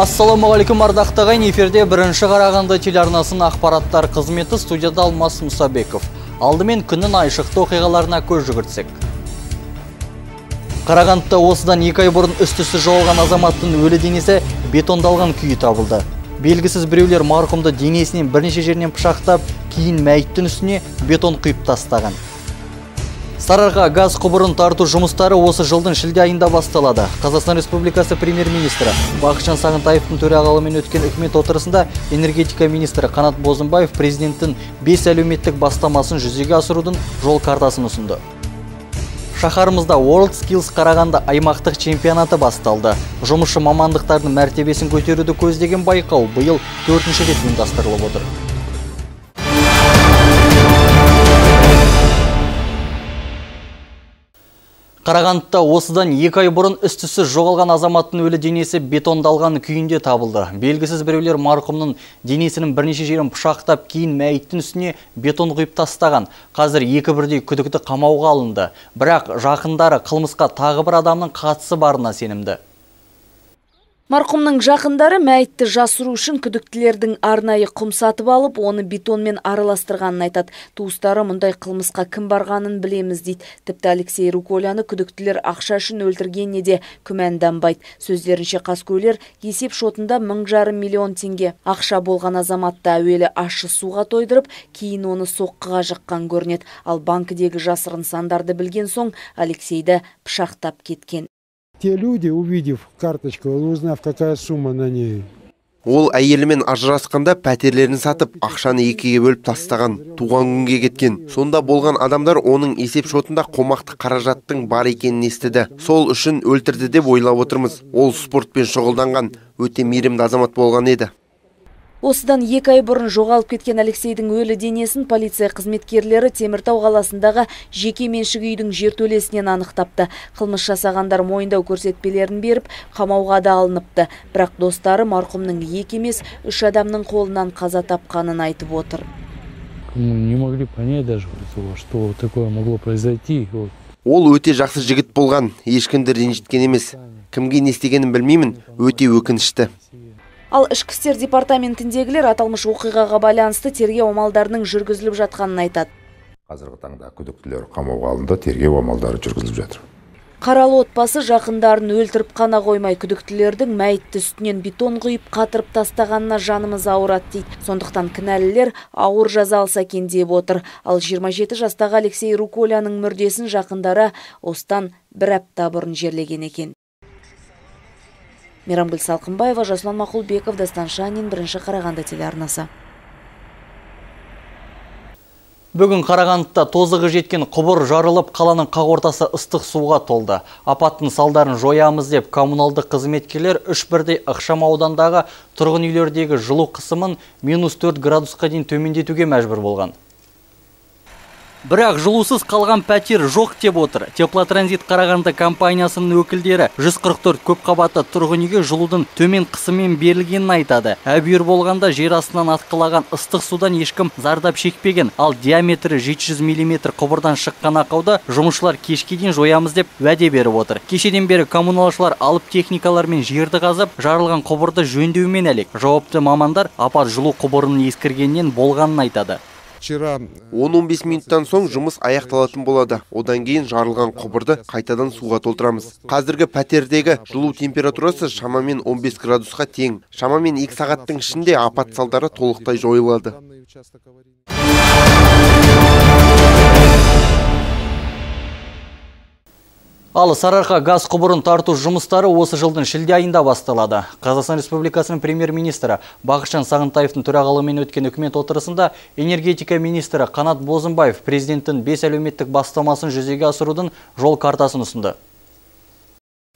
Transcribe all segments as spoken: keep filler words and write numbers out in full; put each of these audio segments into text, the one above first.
Ассаламағалейкум ардақты ағайын, эфирде бірінші Қарағанды телеарнасының ақпараттар қызметі, студияда Алмас Мұсабеков. Алдымен күннің айшықты оқиғаларына көз жүгіртсек. Қарағандыда осыдан екі ай бұрын үстісі жоғалған азаматтың өлі денесі бетондалған күйі табылды. Белгісіз біреулер марқұмды денесінен бірнеше жерінен пышақтап, кейін мәйіттің үстіне бетон құйып тастаған. Сарыарқа газ құбырын тарту жұмыстары осы жылдың шілде айында басталады. Қазақстан Республикасы премьер-министрі Бақытжан Сағынтаевтың төрағалығымен өткен үкімет отырысында энергетика министрі Қанат Бозымбаев президенттің бес әлеуметтік бастамасын жүзеге асырудың жол картасын ұсынды. Шаһарымызда World Skills Қарағанды аймақтық чемпионаты басталды. Жұмысшы мамандықтардың мәртебесін көтеруді көздеген байқау биыл төртінші рет ұйымдастырылып отыр. Қарағандыда осыдан екі ай бұрын үстісі жоғалған азаматтың өлі денесі бетондалған күйінде табылды. Белгісіз біреулер марқұмның денесінің бірнеше жерін пышақтап, кейін мәйіттің үстіне бетон құйып тастаған. Қазір екі бірдей күдікті қамауға алынды. Бірақ жақындары қылмысқа тағы бір адамның қатысы барына сенімді. Марқұмның жақындары мәйітті жасыру үшін күдіктілердің арнайы құм сатып алып, оны бетонмен араластырғанын айтады. Туыстары мұндай қылмысқа кім барғанын білеміз дейді. Тіпті Алексей Руколяны күдіктілер ақша үшін өлтіргеніне де күмәнданбайды. Сөздерінше қаскөйлер есеп шотында мың жарым миллион теңге ақша болған азаматты әуелі ащы суға тойдырып, кейін оны соққыға жыққан көрінеді. Ал банкідегі жасырын сандарды білген соң Алексейді пышақтап кеткен. Те люди, увидев карточку, узнав, какая сумма на ней. Ол әйелімен ажырасқанда пәтерлерін сатып, ақшаны екіге бөліп тастаған, туған күнге кеткен. Сонда болған адамдар оның есеп шотында қомақты қаражаттың бар екенін естіді. Сол үшін өлтірді деп ойлап отырмыз. Ол спортпен шұғылданған, өте мейірімді азамат болған еді. Осыдан екі ай бұрын жоғалып кеткен Алексейдің өлі денесін полиция қызметкерлері Теміртау қаласындағы жеке меншік үйдің жертөлесінен анықтапты. Қылмыс жасағандар мойындау көрсетпелерін беріп, қамауға да алыныпты. Бірақ достары марқұмның екі емес, үш адамның қолынан қаза тапқанын айтып отыр. Не могли понять даже, что такое могло произойти. Ол өте жақсы жігіт болған, ешкімді ренжіткен емес. Кімге не істегенін білмеймін, өте өкінішті. Ал ішкі істер департаментіндегілер аталмыш оқиғаға байланысты тергеу амалдарының жүргізіліп жатқанын айтады. Қазіргі таңда күдіктілер қамауға алынды, тергеу амалдары жүргізіліп жатыр. Қаралы отбасы жақындарын өлтіріп қана қоймай, күдіктілердің мәйітті үстінен бетон құйып қатырып тастағанына жанымыз ауырады дейді. Сондықтан кінәлілер ауыр жаза алса екен деп отыр. Ал жиырма жеті жастағы Алексей Руколяның мүрдесін жақындары осыдан бір апта бұрын жерлеген екен. Мейрамгүл Салқынбаева, Жасұлан Мақұлбеков, Дастан Шанин, бірінші Қарағанды телеарнасы. Бүгін Қарағандыда тозығы жеткен құбыр жарылып, қаланың қақ ортасы ыстық суға толды. Апаттың салдарын жоямыз деп коммуналдық қызметкерлер үш бірдей ықшам аудандағы тұрғын үйлердегі жылу қысымын минус төрт градусқа дейін төмендетуге мәжбүр болған. Бірақ жылусыз қалған пәтер жоқ деп отыр. Теплотранзит Қарағанды компаниясының өкілдері жүз қырық төрт көпқабатты тұрғын үйге жылудың төмен қысыммен берілгенін айтады. Әбүйір болғанда жер астынан атқылаған ыстық судан ешкім зардап шекпеген, ал диаметрі жеті жүз миллиметр құбырдан шыққан ақауды жұмысшылар кешке дейін жоямыз деп уәде беріп отыр. Кешеден бері коммуналшылар алып техникалармен жерді қазып, жарылған құбырды жөндеумен әлек. Жауапты мамандар апат жылу құбырының ескіргеннен болғанын айтады. он он бес минуттан соң жұмыс аяқталатын болады. Одан кейін жарылған құбырды қайтадан суға толтырамыз. Қазіргі пәтердегі жылу температурасы шамамен он бес градусқа тең. Шамамен екі сағаттың ішінде апат салдары толықтай жойылады. Ал Сарыарқа газ құбырын тарту жұмыстары осы жылдың шілде айында басталады. Қазақстан Республикасының премьер-министрі Бақытжан Сағынтаевтың төрағалығымен өткен үкімет отырысында энергетика министрі Қанат Бозымбаев президенттің бес әлеуметтік бастамасын жүзеге асырудың жол картасын ұсынды.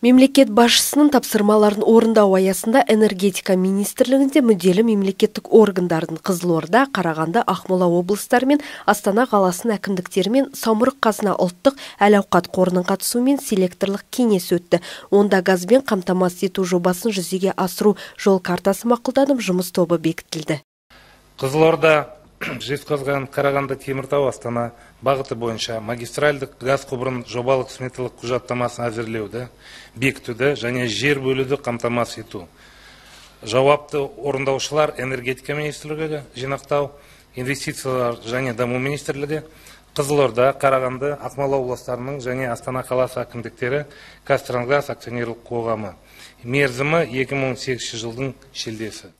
Мемлекет басшысының тапсырмаларын орындау аясында энергетика министрлігінде мүдделі мемлекеттік органдардың Қызылорда, Қарағанды, Ақмола облыстары мен Астана қаласының әкімдіктерімен Самұрық қазына ұлттық әл-ауқат қорының қатысуымен селекторлық кеңес өтті. Онда газбен қамтамасыз ету жобасын жүзеге асыру жол картасы мақұлданып, жұмыс тобы бекітілді. Қызылорда, Жезқазған, Қарағанды, Теміртау, Астана бағыты бойынша магистральдық газ құбырын жобалық сметалық құжаттамасын әзірлеуді, бекітуді және жер бөлуді қамтамасыз ету. жауапты орындаушылар энергетика министрлігі жинақтау, инвестициялар және даму министрлігі, Қызылорда, Қарағанды, Ақмола облыстарының және Астана қаласы әкімдіктері Қазтрансгаз акционерлік қоғамы. Мерзімі екі мың он сегізінші жылдың шілдесі.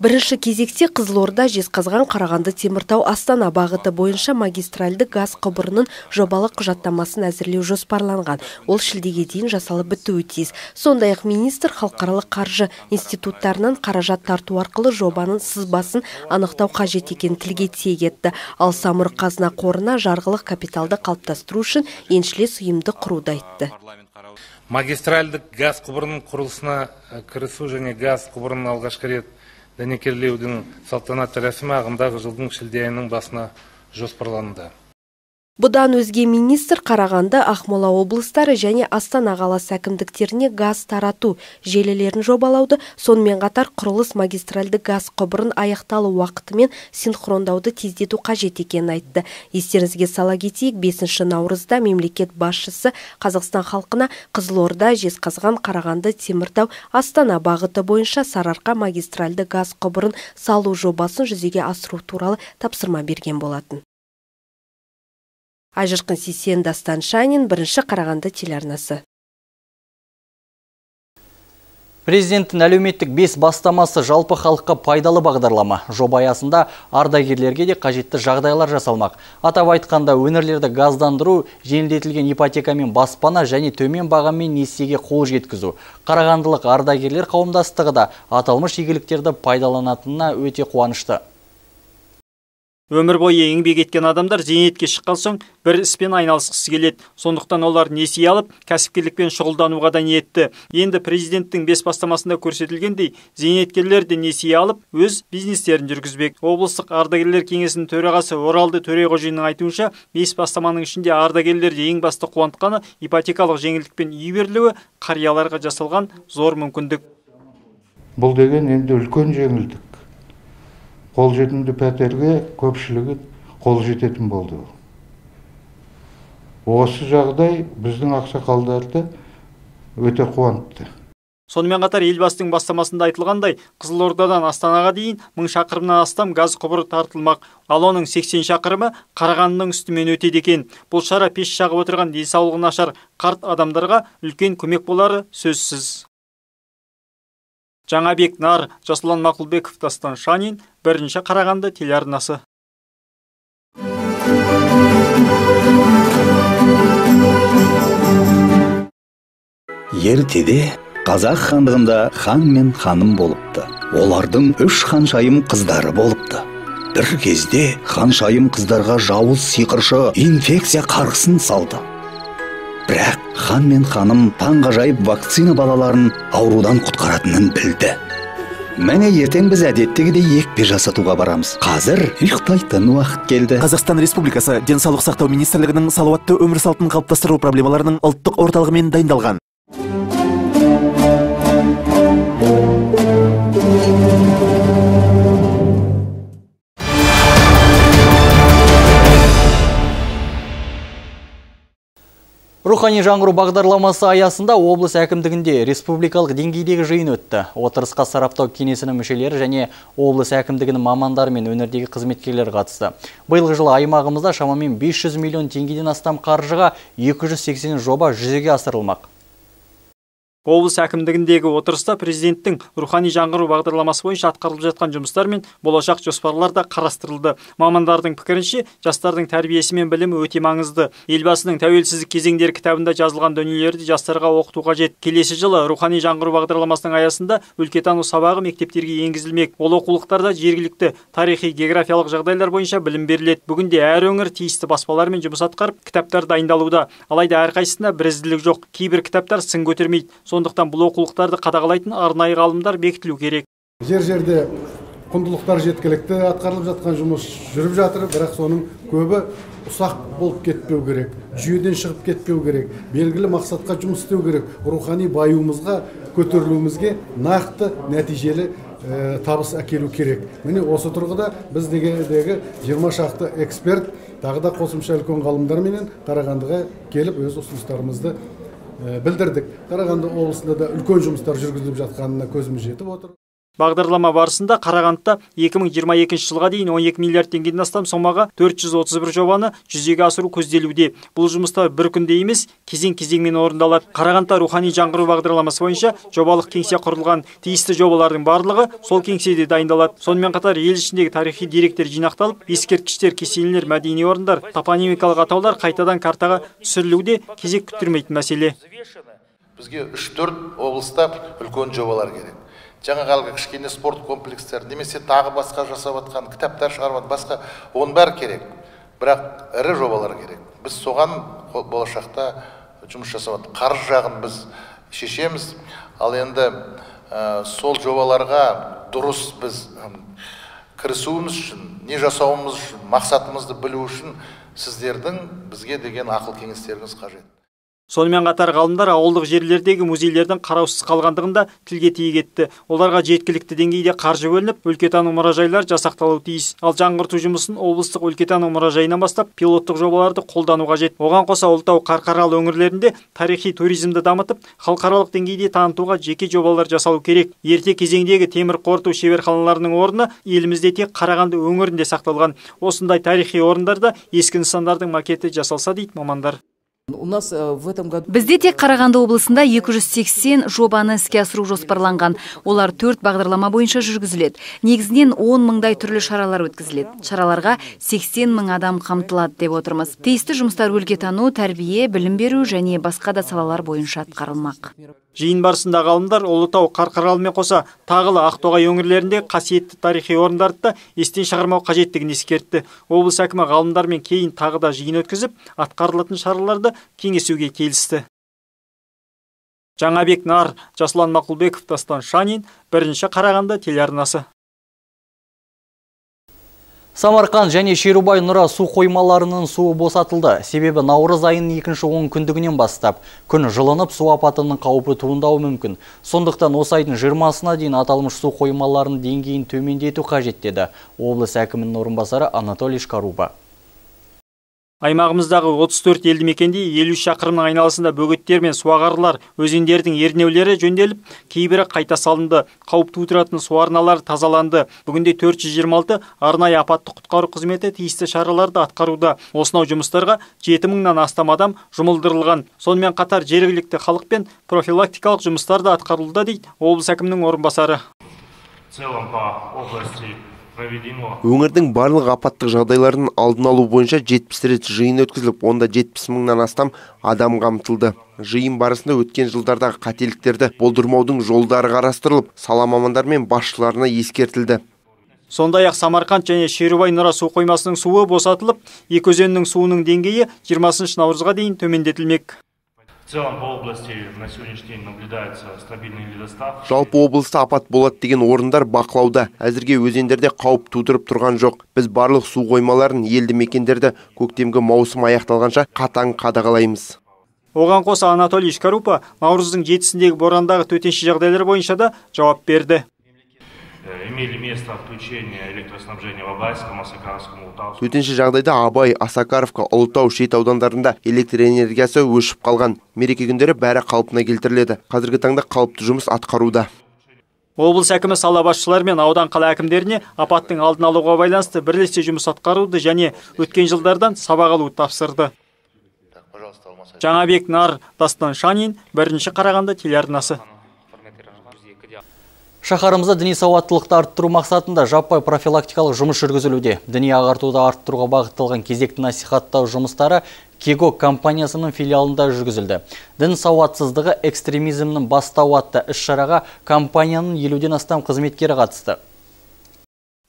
Бірінші кезекте Қызылорда, Жезқазған, Қарағанды, Теміртау, Астана бағыты бойынша магистральды газ құбырының жобалық құжаттамасын әзірлеу жоспарланған. Ол шілдеге дейін жасалып бітуі тиіс. Сондай-ақ министр халықаралық қаржы институттарынан қаражат тарту арқылы жобаның сызбасын анықтау қажет екенін тілге тиек етті. Ал самұрық қазына қорына жарғылық капиталды қалыптастыру үшін еншілес ұйымды құруды айтты. Магистральдік газ құбырының құрылысына кірісу және газ құбырының алғашқы рет дәнекерлеудің салтанатты рәсімі ағымдағы жылдың шілде айының басына жоспарланды. Бұдан өзге министр Қарағанды, Ақмола облыстары және Астана қаласы әкімдіктеріне газ тарату желілерін жобалауды, сонымен қатар құрылыс магистральды газ құбырын аяқталу уақытымен синхрондауды тездету қажет екенін айтты. Естеріңізге сала кетейік, бесінші наурызда мемлекет басшысы Қазақстан халқына Қызылорда, Жезқазған, Қарағанды, Теміртау, Астана бағыты бойынша Сарыарқа магистральды газ құбырын салу жобасын жүзеге асыру туралы тапсырма берген болатын. Айжырқын Сейсен, Дастан Шанин, бірінші Қарағанды телеарнасы. Президенттің әлеуметтік бес бастамасы жалпы халыққа пайдалы бағдарлама. Жоба аясында ардагерлерге де қажетті жағдайлар жасалмақ. Атап айтқанда өңірлерді газдандыру, жеңілдетілген ипотекамен баспана және төмен бағамен несиеге қол жеткізу. Қарағандылық ардагерлер қауымдастығы да аталмыш игіліктерді пайдаланатынына өте қуанышты. Өмір бойы еңбек еткен адамдар зейнетке шыққан соң бір іспен айналысқысы келеді. Сондықтан олар несие алып, кәсіпкерлікпен шұғылдануға да ниетті. Енді президенттің бес бастамасында көрсетілгендей, зейнеткерлер де несие алып, өз бизнестерін жүргізбек. Облыстық ардагерлер кеңесінің төрағасы Оралды Төреғожинның айтуынша, бес бастаманың ішінде ардагерлерді ең басты қуантқаны ипотекалық жеңілдікпен үй берілуі қарияларға жасалған зор мүмкіндік. Бұл деген енді үлкен жеңілдік. Қолжетімді пәтерге көпшілігі қол жететін болды. Осы жағдай біздің ақсақалдарды өте қуантты. Сонымен қатар елбасының бастамасында айтылғандай, Қызылордадан Астанаға дейін мың шақырымнан астам газ құбыры тартылмақ. Ал оның сексен шақырымы Қарағандының үстімен өтеді екен. Бұл шара пеш жағып отырған денсаулығы нашар қарт адамдарға үлкен көмек болары сөзсіз. Жаңабек Нар, Жасұлан Мақұлбеков, Дастан Шанин, бірінші Қарағанды телеарнасы. Ертеде қазақ хандығында хан мен ханым болыпты. Олардың үш ханшайым қыздары болыпты. Бір кезде ханшайым қыздарға жауыз сиқыршы инфекция қарғысын салды. Бірақ хан мен ханым таңғажайып вакцина балаларын аурудан құтқаратынын білді. Мәне ертең біз әдеттегідей екпе жасатуға барамыз. Қазір ұйықтайтын уақыт келді. Қазақстан Республикасы Денсаулық сақтау министрлігінің салауатты өмір салтын қалыптастыру проблемаларының ұлттық орталығымен дайындалған. Рухани жаңғыру бағдарламасы аясында облыс әкімдігінде республикалық деңгейдегі жиын өтті. Отырысқа сараптау кеңесінің мүшелері және облыс әкімдігінің мамандары мен өңірдегі қызметкерлер қатысты. Биылғы жылы аймағымызда шамамен бес жүз миллион теңгеден астам қаржыға екі жүз сексен жоба жүзеге асырылмақ. Облыс әкімдігіндегі отырыста президенттің рухани жаңғыру бағдарламасы бойынша атқарылып жатқан жұмыстар мен болашақ жоспарлар да қарастырылды. Мамандардың пікірінше, жастардың тәрбиесі мен білімі өте маңызды. Елбасының тәуелсіздік кезеңдері кітабында жазылған дүниелерді жастарға оқыту қажет. Келесі жылы рухани жаңғыру бағдарламасының аясында өлкетану сабағы мектептерге енгізілмек. Ол оқулықтарда жергілікті тарихи географиялық жағдайлар бойынша білім беріледі. Бүгінде әр өңір тиісті баспалармен жұмыс атқарып, кітаптар дайындалуда. Алайда әрқайсысында бірізділік жоқ. Кейбір кітаптар сын көтермейді. Сондықтан бұл оқулықтарды қадағалайтын арнайы ғалымдар бекітілу керек. Жер-жерде құндылықтар жеткілікті, атқарылып жатқан жұмыс жүріп жатыр, бірақ соның көбі ұсақ болып кетпеу керек, жүйеден шығып кетпеу керек, белгілі мақсатқа жұмыс істеу керек, рухани баюымызға, көтерілуімізге нақты нәтижелі ә, табыс әкелу керек. Міне осы тұрғыда біз дегендегі жиырма шақты эксперт, тағы да қосымша үлкен ғалымдарменен Қарағандыға келіп өз ұсыныстарымызды білдірдік. Қарағанды облысында да үлкен жұмыстар жүргізіліп жатқанына көзіміз жетіп отыр. Бағдарлама барысында Қарағандыда екі мың жиырма екінші жылға дейін он екі миллиард теңгеден астам сомаға төрт жүз отыз бір жобаны жүзеге асыру көзделуде. Бұл жұмыстар бір күнде емес, кезең-кезеңмен орындалады. Қарағандыда рухани жаңғыру бағдарламасы бойынша жобалық кеңсе құрылған. Тиісті жобалардың барлығы сол кеңседе дайындалады. Сонымен қатар ел ішіндегі тарихи деректер жинақталып, ескерткіштер, кесенелер, мәдени орындар, топонимикалық атаулар қайтадан картаға түсірілуде кезек күттірмейтін мәселе. Бізге үш төрт облыста үлкен жобалар керек. Жаңа қалғы кішкене спорт комплекстер, немесе тағы басқа жасап атқан, кітаптар шығарып басқа, оның бәрі керек. Бірақ ірі жобалар керек. Біз соған болашақта жұмыс жасап атық. Қаржы жағын біз шешеміз, ал енді ә, сол жобаларға дұрыс біз кірісуіміз үшін, не жасауымыз үшін, мақсатымызды білу үшін сіздердің бізге деген ақыл кеңестеріңіз қажет. Сонымен қатар ғалымдар ауылдық жерлердегі музейлердің қараусыз қалғандығында тілге тиек етті. Оларға жеткілікті деңгейде қаржы бөлініп, өлкетану мұражайлар жасақталуы тиіс. Ал жаңғырту жұмысын облыстық өлкетану мұражайынан бастап пилоттық жобаларды қолдану қажет. Оған қоса Ұлытау, Қарқаралы өңірлерінде тарихи туризмді дамытып, халықаралық деңгейде танытуға жеке жобалар жасалу керек. Ерте кезеңдегі темір қорыту шеберханаларының орны елімізде тек Қарағанды өңірінде сақталған. Осындай тарихи орындарда ескі нысандардың макеті жасалса дейді мамандар. Бізде тек Қарағанды облысында екі жүз сексен жобаны іске асыру жоспарланған. Олар төрт бағдарлама бойынша жүргізіледі. Негізінен он мыңдай түрлі шаралар өткізіледі. Шараларға сексен мың адам қамтылады деп отырмыз. Тиісті жұмыстар өлкетану, тәрбие, білім беру және басқа да салалар бойынша атқарылмақ. Жиын барысында ғалымдар Ұлытау, Қарқаралымен қоса тағылы Ақтоғай өңірлерінде қасиетті тарихи орындарды да естен шығармау қажеттігін ескертті. Облыс әкімі ғалымдармен кейін тағы да жиын өткізіп, атқарылатын шараларды кеңесуге келісті. Жаңабек Нар, Жасұлан Мақұлбеков, Дастан Шанин, бірінші Қарағанды телеарнасы. Самарқан және Шерубай Нұра су қоймаларының суы босатылды. Себебі наурыз айының екінші он күндігінен бастап күн жылынып, су апатының қаупі туындауы мүмкін. Сондықтан осы айдың жиырмасына дейін аталмыш су қоймаларының деңгейін төмендету қажет деді облыс әкімінің орынбасары Анатолий Шкаруба. Аймағымыздағы отыз төрт елді мекенде елу шақырымның айналасында бөгеттер мен суағарлар, өзендердің ернеулері жөнделіп, кейбірі қайта салынды. Қауіп тудыратын су арналары тазаланды. Бүгінде төрт жүз жиырма алты арнайы апаттық құтқару қызметі тиісті шараларды атқаруда. Осынау жұмыстарға жеті мыңнан астам адам жұмылдырылған. Сонымен қатар жергілікті халықпен профилактикалық жұмыстар да атқарылуда дейді облыс әкімінің орынбасары. Өңірдің барлық апаттық жағдайларын алдын алу бойынша жетпіс рет жиын өткізіліп, онда жетпіс мыңнан астам адам қамтылды. Жиын барысында өткен жылдардағы қателіктерді болдырмаудың жолдары қарастырылып, сала мамандар мен басшыларына ескертілді. Сондай-ақ Самарқанд және Шерубай Нұра су қоймасының суы босатылып, екі өзеннің суының деңгейі жиырмасыншы наурызға дейін төмендетілмек. Жалпы облыста апат болады деген орындар бақылауда. Әзірге өзендерде қауіп тудырып тұрған жоқ. Біз барлық су қоймаларын, елді мекендерді көктемгі маусым аяқталғанша қатаң қадағалаймыз. Оған қоса Анатолий Шкарупа наурыздың жетісіндегі борандағы төтенше жағдайлар бойынша да жауап берді. Төтенше жағдайда Абай, Асакаровка, Ұлытау, Шет аудандарында электр энергиясы өшіп қалған. Мереке күндері бәрі қалпына келтіріледі. Қазіргі таңда қалыпты жұмыс атқаруда. Облыс әкімі сала басшылары мен аудан қала әкімдеріне апаттың алдын алуға байланысты бірлесе жұмыс атқаруды және өткен жылдардан сабақ алуды тапсырды. Жаңабек Нар, Дастан Шанин, бірінші Қарағанды телеарнасы. Шаһарымызда діни сауаттылықты арттыру мақсатында жаппай профилактикалық жұмыс жүргізілуде. Діни ағартуды арттыруға бағытталған кезекті насихаттау жұмыстары Кего компаниясының филиалында жүргізілді. Дін сауатсыздығы экстремизмнің бастауы атты іс-шараға компанияның елуден астам қызметкері қатысты.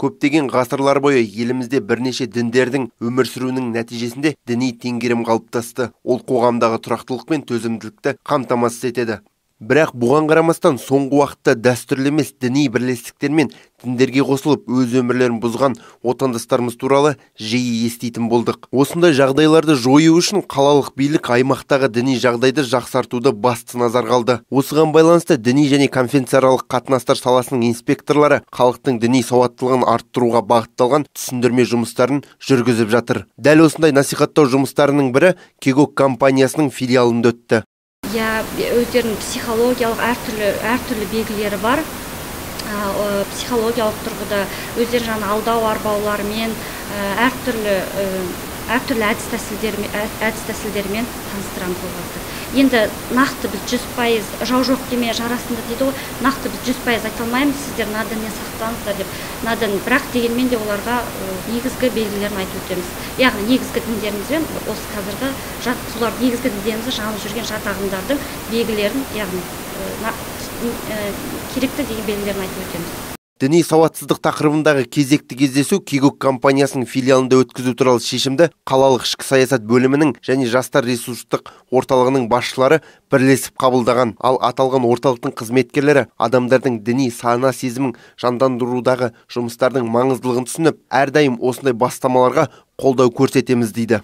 Көптеген ғасырлар бойы елімізде бірнеше діндердің өмір сүруінің нәтижесінде діни теңгерім қалыптасты. Ол қоғамдағы тұрақтылық пен төзімділікті қамтамасыз етеді. Бірақ бұған қарамастан соңғы уақытта дәстүрлі емес діни бірлестіктер мен діндерге қосылып өз өмірлерін бұзған отандастарымыз туралы жиі еститін болдық. Осындай жағдайларды жою үшін қалалық билік аймақтағы діни жағдайды жақсартуды басты назар қалды. Осыған байланысты діни және конфессияаралық қатынастар саласының инспекторлары халықтың діни сауаттылығын арттыруға бағытталған түсіндірме жұмыстарын жүргізіп жатыр. Дәл осындай насихаттау жұмыстарының бірі Кего компаниясының филиалында өтті. Я өздерінің психологиялық әртүрлі әртүрлі белгілері бар. психологиялық тұрғыда өздері жаңа алдау арбауларымен әртүрлі әртүрлі әдіс тәсілдермен таныстырамыз оларды. Енді нақты біз жүз пайыз жау жоқ деме жарасында дейді ғой, нақты біз жүз пайыз айта алмаймыз, сіздер наденнен сақтаңыздар деп. Наден, бірақ дегенмен де оларға негізгі белгілерін айтып өтеміз. Яғни негізгі діндерімізбен осы қазіргі солар негізгі діндерімізді жанып жүрген жат ағымдардың белгілерін, яғни керекті деген белгілерін айтып өтеміз. Діни сауатсыздық тақырыбындағы кезекті кездесу Кигок компаниясының филиалында өткізу туралы шешімді қалалық ішкі саясат бөлімінің және жастар ресурстық орталығының басшылары бірлесіп қабылдаған. Ал аталған орталықтың қызметкерлері адамдардың діни сана сезімін жандандырудағы жұмыстардың маңыздылығын түсініп, әрдайым осындай бастамаларға қолдау көрсетеміз дейді.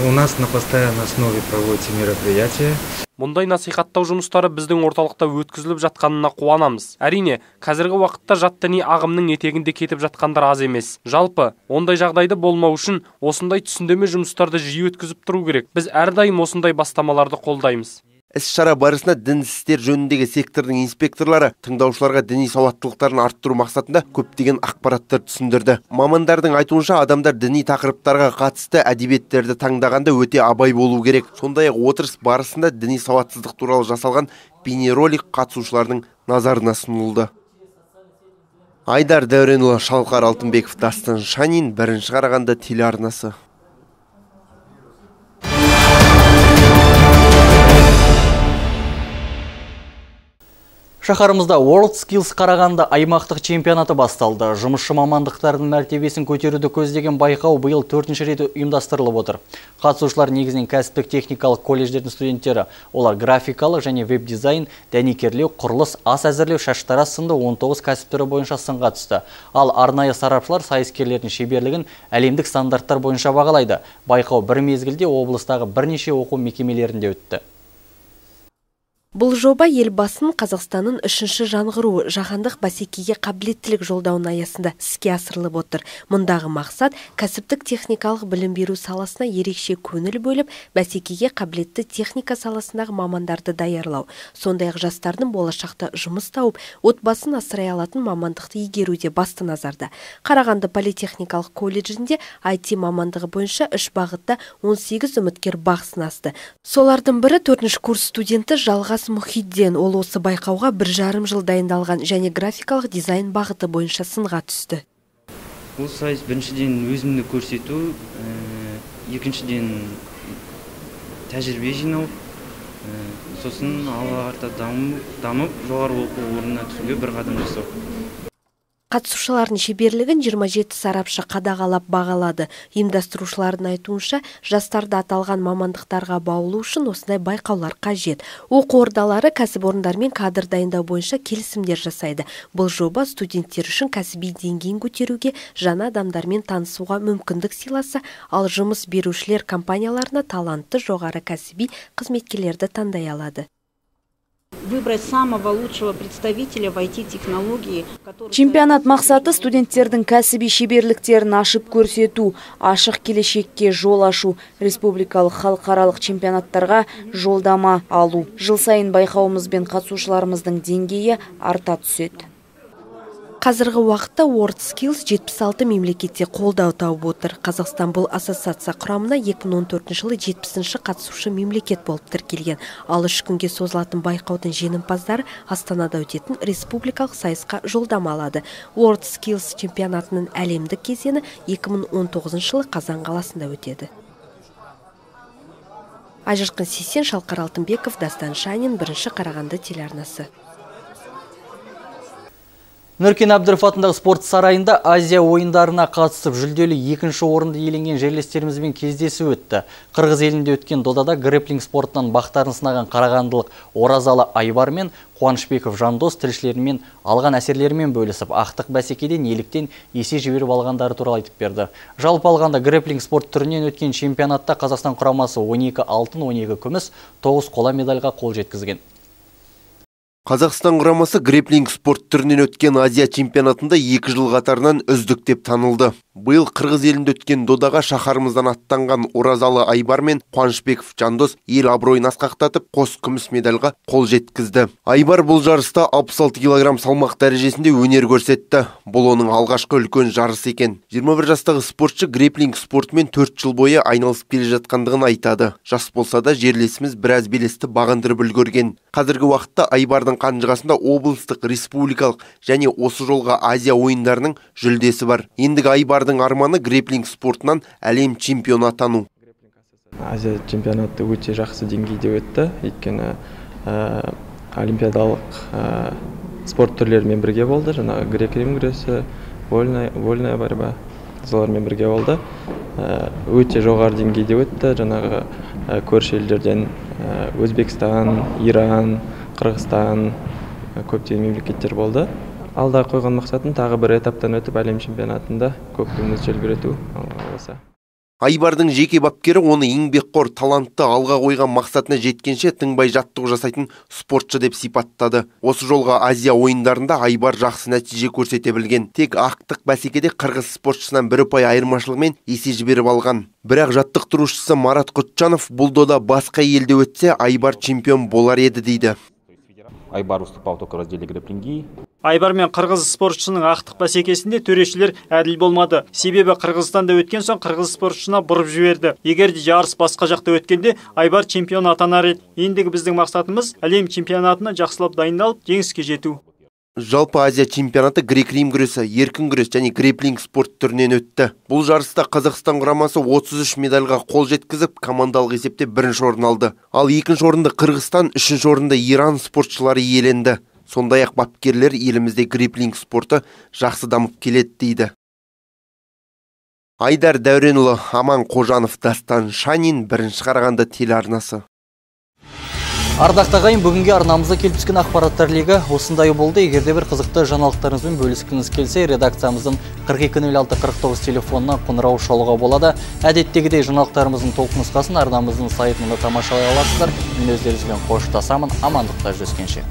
У нас на постоянной основе проводятся мероприятия. Мұндай насихаттау жұмыстары біздің орталықта өткізіліп жатқанына қуанамыз. Әрине, қазіргі уақытта жат діни ағымның етегінде кетіп жатқандар аз емес. Жалпы, ондай жағдайды болмау үшін осындай түсіндірме жұмыстарды жиі өткізіп тұру керек. Біз әрдайым осындай бастамаларды қолдаймыз. Іс-шара барысында дін істер жөніндегі сектордың инспекторлары тыңдаушыларға діни сауаттылықтарын арттыру мақсатында көптеген ақпараттар түсіндірді. Мамандардың айтуынша адамдар діни тақырыптарға қатысты әдебиеттерді таңдағанда өте абай болу керек. Сондай-ақ отырыс барысында діни сауатсыздық туралы жасалған бейнеролик қатысушылардың назарына ұсынылды. Айдар Дәуренұлы, Шалқар Алтынбеков, Дастан Шанин, бірінші Қарағанды телеарнасы. Шаһарымызда World Skills Қарағанды аймақтық чемпионаты басталды. Жұмысшы мамандықтардың мәртебесін көтеруді көздеген байқау биыл төртінші рет ұйымдастырылып отыр. Қатысушылар негізінен кәсіптік техникалық колледждердің студенттері. Олар графикалық және веб-дизайн, дәнекерлеу, құрылыс, ас әзірлеу, шаштараз сынды он тоғыз кәсіп түрі бойынша сынға түсті. Ал арнайы сарапшылар сайыскерлердің шеберлігін әлемдік стандарттар бойынша бағалайды. Байқау бір мезгілде облыстағы бірнеше оқу мекемелерінде өтті. Бұл жоба елбасының Қазақстанның үшінші жаңғыруы жаһандық бәсекеге қабілеттілік жолдауының аясында іске асырылып отыр. Мұндағы мақсат кәсіптік техникалық білім беру саласына ерекше көңіл бөліп, бәсекеге қабілетті техника саласындағы мамандарды даярлау. Сондай-ақ жастардың болашақта жұмыс тауып, отбасын асырай алатын мамандықты игеруде басты назарда. Қарағанды политехникалық колледжінде ай ти мамандығы бойынша үш бағытта он сегіз үміткер бақ сынасты. Солардың бірі төртінші курс студенті Жалғас Мұхидден. Ол осы байқауға бір жарым жыл дайындалған және графикалық дизайн бағыты бойынша сынға түсті. Бұл сайыс біріншіден өзімді көрсету, екіншіден тәжірибе жинау, сосын алға қарата дамып, жоғары оқу орнына түсуге бір қадам жасау. Қатысушылардың шеберлігін жиырма жеті сарапшы қадағалап бағалады. Ұйымдастырушылардың айтуынша, жастарды аталған мамандықтарға баулу үшін осындай байқаулар қажет. Оқу ордалары кәсіпорындармен кадр дайындау бойынша келісімдер жасайды. Бұл жоба студенттер үшін кәсіби деңгейін көтеруге, жаңа адамдармен танысуға мүмкіндік сыйласа, ал жұмыс берушілер компанияларына талантты жоғары кәсіби қызметкерлерді таңдай алады. Выбрать самого лучшего представителя в ай ти-технологии. Чемпионат мақсаты студенттердің кәсіби шеберліктерін ашып көрсету, ашық келешекке жол ашу, республикалық халықаралық чемпионаттарға жолдама алу. Жыл сайын байқауымызбен қатысушыларымыздың деңгейі арта түседі. Қазіргі уақытта World Skills жетпіс алты мемлекетте қолдау тауып отыр. Қазақстан бұл ассоциация құрамына екі мың он төртінші жылы жетпісінші қатысушы мемлекет болып тіркелген. Ал үш күнге созылатын байқаудың жеңімпаздары Астанада өтетін республикалық сайысқа жолдама алады. World Skills чемпионатының әлемдік кезеңі екі мың он тоғызыншы жылы Қазан қаласында өтеді. Айжарқын Сейсен, Шалқар Алтынбеков, Дастан Шанин, бірінші Қарағанды телеарнасы. Нұркен Әбдіров атындағы спорт сарайында Азия ойындарына қатысып жүлделі екінші орынды иеленген жерлестерімізбен кездесу өтті. Қырғыз елінде өткен додада грэпплинг спортынан бақтарын сынаған қарағандылық Оразалы Айбар мен Қуанышбеков Жандос тілшілерімен алған әсерлерімен бөлісіп, ақтық бәсекеде неліктен есе жіберіп алғандары туралы айтып берді. Жалпы алғанда грэпплинг спорт түрінен өткен чемпионатта Қазақстан құрамасы он екі алтын, он екі күміс, тоғыз қола медальға қол жеткізген. Қазақстан құрамасы грэпплинг спорт түрінен өткен Азия чемпионатында екі жыл қатарынан үздік деп танылды. Биыл Қырғыз елінде өткен додаға шаһарымыздан аттанған Оразалы Айбар мен Қуанышбеков Жандос ел абыройын асқақтатып, қос күміс медальға қол жеткізді. Айбар бұл жарыста алпыс алты килограмм салмақ дәрежесінде өнер көрсетті. Бұл оның алғашқы үлкен жарысы екен. жиырма бір жастағы спортшы греплинг спортымен төрт жыл бойы айналысып келе жатқандығын айтады. Жас болса да жерлесіміз біраз белесті бағындырып үлгерген. Қазіргі уақытта Айбардың қанжығасында облыстық, республикалық және осы жолға Азия ойындарының жүлдесі бар. Ендігі Айбардың арманы греплинг спортынан әлем чемпионы атану. Азия чемпионаты өте жақсы деңгейде өтті. Өйткені ә, олимпиадалық ә, спорт түрлерімен бірге болды. Жаңағы грек-рим күресі, вольная, вольная борьба солармен бірге болды. Ә, өте жоғары деңгейде өтті. Жаңағы ә, көрші елдерден ә, Өзбекстан, Иран, Қырғызстан көптеген мемлекеттер болды. Алда қойған мақсатым тағы бір этаптан өтіп әлем чемпионатында көк туымызды желбірету болса. Айбардың жеке бапкері оны еңбекқор, талантты, алға қойған мақсатына жеткенше тыңбай жаттығу жасайтын спортшы деп сипаттады. Осы жолға Азия ойындарында Айбар жақсы нәтиже көрсете білген. Тек ақтық бәсекеде қырғыз спортшысынан бір ұпай айырмашылығымен есе жіберіп алған. Бірақ жаттықтырушысы Марат Құтжанов бұл дода басқа елде өтсе Айбар чемпион болар еді дейді. Айбар выступал только в разделе грэпплинги. Айбар мен қырғыз спортшының ақтық бәсекесінде төрешілер әділ болмады. Себебі Қырғызстанда өткен соң қырғыз спортшына бұрып жіберді. Егер де жарыс басқа жақта өткенде Айбар чемпион атанар еді. Ендігі біздің мақсатымыз әлем чемпионатына жақсылап дайындалып, жеңіске жету. Жалпы Азия чемпионаты грек-рим күресі, еркін күрес және греплинг спорт түрінен өтті. Бұл жарыста Қазақстан құрамасы отыз үш медальға қол жеткізіп, командалық есепте бірінші орын алды. Ал екінші орынды Қырғызстан, үшінші орынды Иран спортшылары иеленді. Сондай-ақ бапкерлер елімізде греплинг спорты жақсы дамып келеді дейді. Айдар Дәуренұлы, Аман Қожанов, Дастан Шанин, бірінші Қарағанды телеарнасы. Ардақты ағайын, бүгінге арнамызда келіп түскен ақпараттар легі осындай болды. Егерде бір қызықты жаңалықтарыңызбен бөліскіңіз келсе, редакциямыздың қырық екі нөл алты қырық тоғыз телефонына қоңырау шалуға болады. Әдеттегідей жаңалықтарымыздың толық нұсқасын арнамыздың сайтында тамашалай аласыздар. Мен өздеріңізбен қоштасамын. Амандықта жүздескенше.